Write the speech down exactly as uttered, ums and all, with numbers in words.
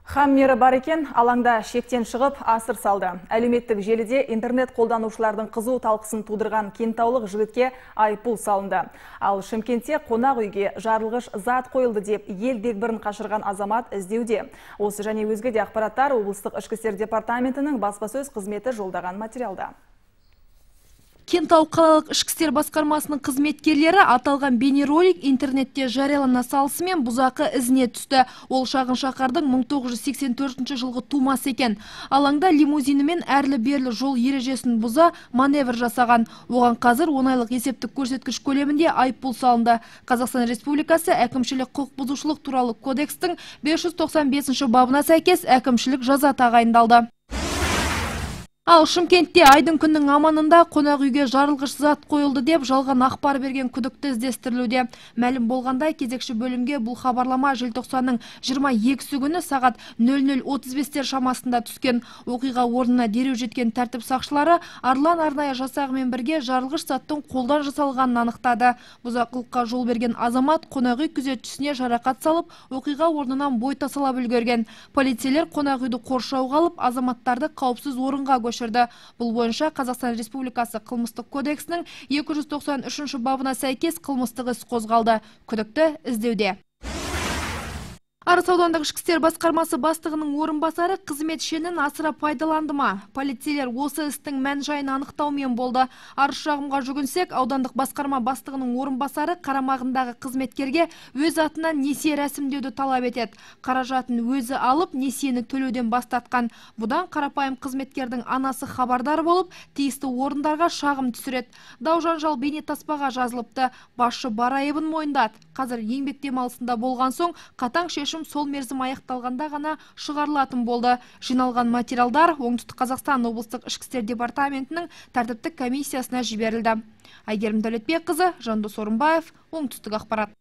Хаммері бар екен, алаңда шектен шығып асыр салды. Әлеуметтік желіде интернет қолданушылардың қызу талқысын тудырған кентаулық жігітке айыппұл салынды. Ал Шымкентте қонақ үйге жарылғыш зат қойылды деп ел дегбірін қашырған азамат іздеуде. Осы және өзге де ақпараттар облыстық ішкі істер департаментінің баспасөз қызметі жолдаған материалда. Кентау қалалық ішкі істер басқармасының қызметкерлері аталған бейнеролик интернетте жариялана салысымен бұзақы ізіне түсті. Ол шағын шаһардың мың тоғыз жүз сексен төртінші жылғы тумасы екен. Алаңда лимузинімен әрлі-берлі жол ережесін бұза маневр жасаған. Оған қазір он айлық есептік көрсеткіш көлемінде айыппұл салынды. Қазақстан Республикасы әкімшілік құқық бұзушылық туралы кодекстің бес жүз тоқсан бесінші бабына сәйкес әкімшілік жаза тағайындалды. Ал Шымкентте айдың күннің аманында қонақ үйге жарылғыш зат қойылды деп жалған ақпар берген күдікті іздестірілуде. Мәлім болғандай, кезекші бөлімге бұл хабарлама желтоқсанның жиырма екісі күні сағат нөл нөл отыз бестер шамасында түскен. Оқиға орнына дереу жеткен тәртіп сақшылары Арлан арнайы жасағымен бірге жарылғыш заттың қолдан жасалғанын анықтады. Бұзақылыққа жол берген азамат қонақ үй күзетшісіне жарақат салып, оқиға орнынан бой тасалап үлгерген. Полицейлер қонақ үйді қоршауға алып, азаматтарды қауіпсіз орынға көшірді. Бұл бойынша Қазақстан Республикасы қылмыстық кодексінің екі жүз тоқсан үшінші бабына сәйкес қылмыстық іс қозғалды. Күдікті іздеуде. Арыс аудандық ішкі істер басқармасы бастығының орынбасары қызмет шенін асыра пайдаланды ма? Полицейлер осы істің мән-жайын анықтаумен болды. Арыз шағымға жүгінсек, аудандық басқарма бастығының орынбасары қарамағындағы қызметкерге өз атынан несие рәсімдеуді талап етеді. Қаражатын өзі алып, несиені төлеуден бастатқан. Бұдан қарапайым қызметкердің анасы хабардар болып, тиісті орындарға шағым түсіреді. Дау-жанжал бейнетаспаға жазылыпты. Басшы бар айыбын мойындады. Қазір еңбек демалысында болған соң қатаң шешім сол мерзім аяқталғанда ғана шығарылатын болды. Жиналған материалдар Оңтүстік Қазақстан облыстық ішкі істер департаментінің тәртіптік комиссиясына жіберілді. Айгерім Дәулетбекқызы, Жандос Орынбаев, Оңтүстік ақпарат.